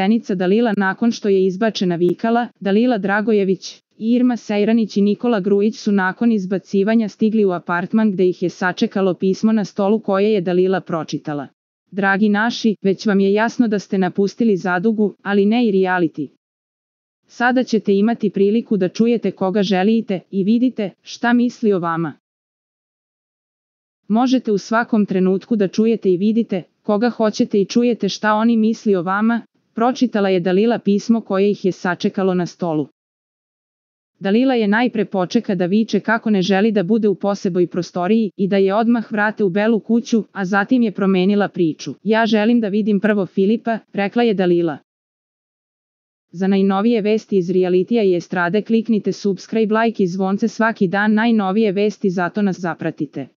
Zenica Dalila nakon što je izbačena vikala, Dalila Dragojević, Irma Sejranić i Nikola Grujić su nakon izbacivanja stigli u apartman gde ih je sačekalo pismo na stolu koje je Dalila pročitala. Dragi naši, već vam je jasno da ste napustili Zadugu, ali ne i reality. Sada ćete imati priliku da čujete koga želite i vidite šta misli o vama. Možete u svakom trenutku da čujete i vidite koga hoćete i čujete šta oni misli o vama, pročitala je Dalila pismo koje ih je sačekalo na stolu. Dalila je najpre počeka da viče kako ne želi da bude u poseboj prostoriji i da je odmah vrate u Belu kuću, a zatim je promenila priču. Ja želim da vidim prvo Filipa, rekla je Dalila. Za najnovije vesti iz realitija i estrade kliknite subscribe, like i zvonce svaki dan, najnovije vesti, zato nas zapratite.